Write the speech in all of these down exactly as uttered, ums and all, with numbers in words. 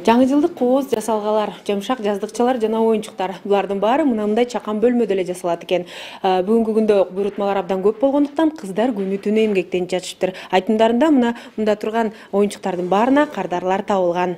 Жаңы жылдык кооз, жасалгалар, жамшак жаздыкчалар жана оюнчуктар. Булардын баары мынандай чакан бөлмөдө эле жасалат экен. Бүгүнкү күндө буйрутмалар абдан көп болгондуктан кыздар күнү түнү эмгектенип жатышыптыр. Айтымдарында мына мында турган оюнчуктардын баарына кардарлар табылган.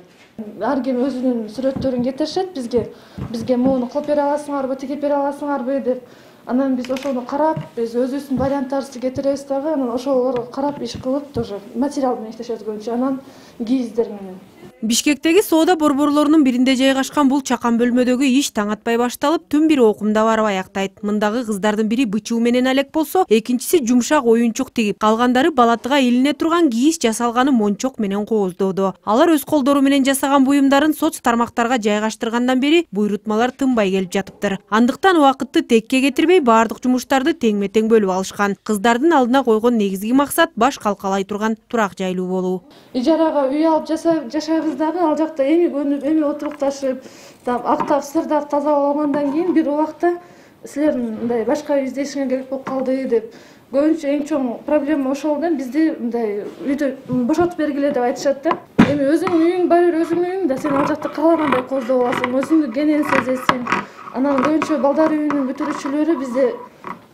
Ар ким өзүнүн сүрөттөрүн кетиришет бизге. Бизге муну кылып бере аласыңарбы, тигип бере аласыңарбы деп. Анан биз ошону карап, биз өзүбүздүн варианттарыбызды кетиребиз дагы, анан ошолорго карап иш кылып, тоже материал менен иштешет көбүнчө, анан кийиздер менен. Бишкектеги соода борборлорунун биринде жайгашкан бул чакан бөлмөдөгү иш таң атпай башталып, түн бир окумда барып аяктайт. Мындагы кыздардын бири бычуу менен алек болсо, экинчиси жумшак оюнчук тигип, калгандары балатыга илине турган кийиз жасалганы мончок менен кооздоодо. Алар өз колдору менен жасаган буюмдарын соц тармактарга жайгаштыргандан бери буйрутмалар тынбай келип жатыптыр. Андыктан убакытты текке кетирбей, баардык жумуштарды тең-метең бөлүп алышкан. Кыздардын алдына койгон негизги максат баш калкалай турган турак жайлуу болуу. Ижарага үй алып жашайбыз дагы, ал жакта эми көнүп, эми отурукташып, актап, сырдап тазалап алгандан кийин бир убакта силердин мындай башка үй издешиңер керек болуп калды деп. Көбүнчө эң чоң проблема ошол да, бизди мындай үйдө бошотуп бергиле деп айтышат да. Эми өзүңдүн үйүң бар, өзүңдүн үйүң да, сен ал жакта каалагандай кооздоп аласың, өзүңдү кенен сезесиң. Анан көбүнчө балдар үйүнүн бүтүрүүчүлөрү бизде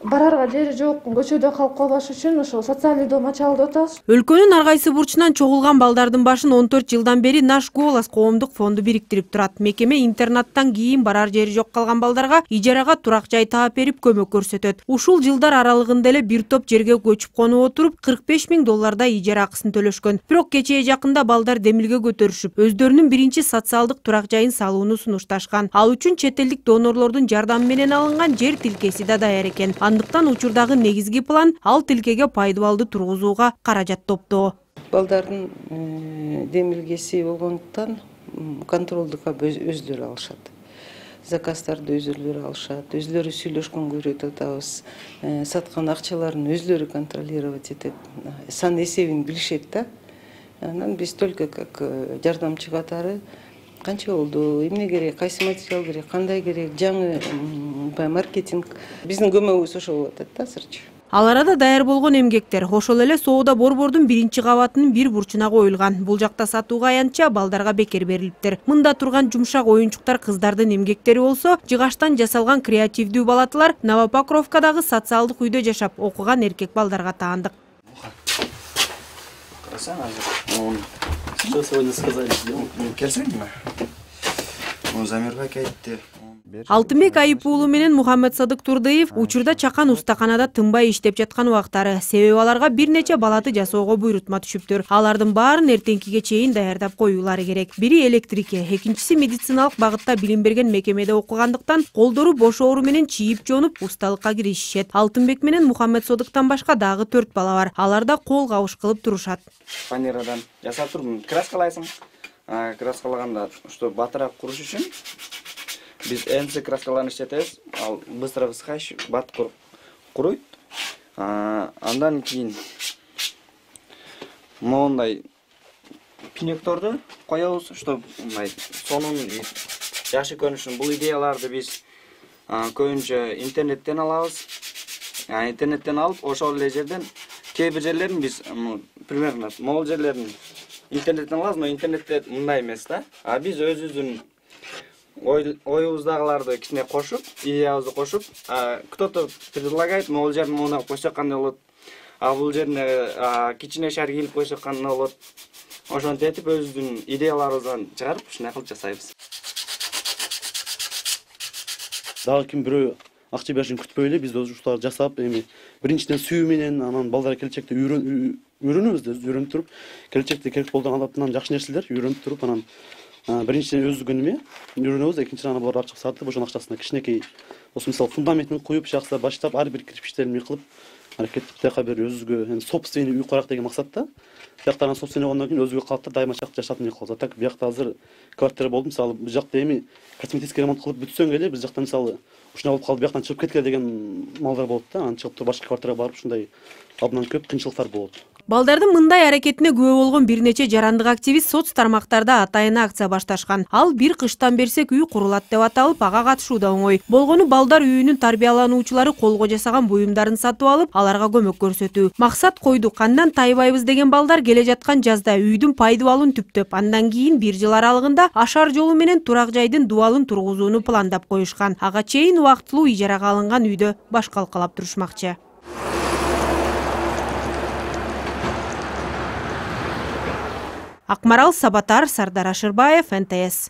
барарга жери жок, көчөдө калып калбаш үчүн ошо социальный дом ачалы деп атабыз. Өлкөнүн ар кайсы бурчунан чогулган балдардын башын он төрт жылдан бери Наш голос коомдук фонду бириктирип турат. Мекеме интернаттан кийин барар жери жок калган балдарга ижарага турак жай таап берип көмөк көрсөтөт. Ушул жылдар аралыгында эле бир топ жерге көчүп конуп отуруп, кырк беш миң доллардай ижара акысын төлөшкөн. Бирок кечээ жакында балдар демилге көтөрүшүп, өздөрүнүн биринчи социалдык турак жайын салууну сунушташкан. Ал үчүн чет элдик донорлордун жардамы менен алынган жер тилкеси да даяр экен. Андыктан учурдагы негизги план ал тилкеге пайдубалды тургузууга каражат топтоо. Балдардын демилгеси болгондуктан контролдук өзлөрү алышат. Заказдарды өзлөрү алышат, өзлөрү сүйлөшкөнгө үйрөтүп атабыз. Саткан акчаларын өзлөрү контролировать этип, сан эсебин билишет да. Анан биз только как жардамчы катары канча болду, эмне керек, кайсы материал керек, кандай керек, жаңы маркетинг. Биздин көмөгүбүз ошол болуп атат да азырчы. Ал арада даяр болгон эмгектер ошол эле соода борбордун биринчи кабатынын бир бурчуна коюлган. Бул жакта сатууга аянтча балдарга бекер берилиптир. Мында турган жумшак оюнчуктар кыздардын эмгектери болсо, жыгаштан жасалган креативдүү балатылар Новопокровкадагы социалдык үйдө жашап окуган эркек балдарга таандык. Что сегодня сказали? Келсеңби? Ну, замербек айтты. Алтынбек Айып уулу менен Мухаммед Садык Турдыев учурда чакан устаканада тынбай иштеп жаткан убактары. Себеби аларга бир нече балаты жасоого буйрутма түшүптүр. Алардын баарын эртеңкиге чейин даярдап коюулары керек. Бири электрике, экинчиси медициналык багытта билим берген мекемеде окугандыктан колдору бош оору менен чийип жонуп усталыкка киришишет. Алтынбек менен Мухаммед Садыктан башка дагы төрт бала бар. Алар да кол кабыш кылып турушат. Фанерадан жасап турмун. Краскалайсың. Краскалаганда, что батыраак куруш үчүн биз энси краскаларын иштетебиз. Ал быстро высыхающий бат куруйт. Андан кийин моундай пинекторду коебуз, что мындай сонун жакшы көрүнүшүн. Бул идеяларды биз көбүнчө интернеттен алабыз. Интернеттен алып, ошол эле жерден кээ бир жерлерин биз примерно могул жерлерин интернеттен алабыз, но интернетте мындай эмес да. А биз өзүбүздүн оюбуздагыларды кичине кошуп, идеябызды кошуп, кто-то предлагает, могул жерин муна койсок кандай болот, а бул жерине кичине шар кийилип койсок кандай болот. Ошентип этип өзүбүздүн идеяларыбыздан чыгарып, ушундай кылып жасайбыз. Дагы ким бирөө акча беришин күтпөй эле биз ушуларды жасап, эми биринчиден сүйүү менен, анан балдар келечекте үйрөнөбүз да, үйрөнүп туруп, келечекте керек болгон алатынан жакшы нерселер үйрөнүп туруп, анан биринчиден өзүбүздүн эме үйрөнөбүз, экинчиден анан булар ачып сатып, ошонун акчасына кичинекей, ошо мисалы фундаментин куюп, жаксылап баштап, ар бир кирпичтерин кылып, аракеттип тияка бир өзүгө собственный үй курак деген максатта. Биякта анан собственный болгондон кийин өзүгө калат да, дайыма жашап эмне кылабыз. Так биякта азыр квартира болду, мисалы бул жакта эми косметический ремонт кылып бүтсөң эле, биз жакта мисалы ушундай болуп калды, бияктан чыгып кеткиле деген малдар болот да. Анан чыгып туруп башка квартирага барып ушундай абдан көп кыйынчылыктар болот. Балдардын мындай аракетине күбө болгон бир нече жарандык активист соц тармактарда атайын акция башташкан. Ал бир кыштан берсек үй курулат деп аталып, ага катышуу да оңой. Болгону балдар үйүнүн тарбиялануучулары колго жасаган буюмдарын сатып алып, аларга көмөк көрсөтүү. Максат койдук, андан тайбайбыз деген балдар келе жаткан жазда үйдүн пайдубалын түптөп, андан кийин бир жыл аралыгында ашар жолу менен турак жайдын дубалын тургузууну пландап коюшкан. Ага чейин убактылуу ижарага алынган үйдө баш калкалап турушмакчы. Акмарал Сабатар, Сардар Ашырбаев, эн тэ эс.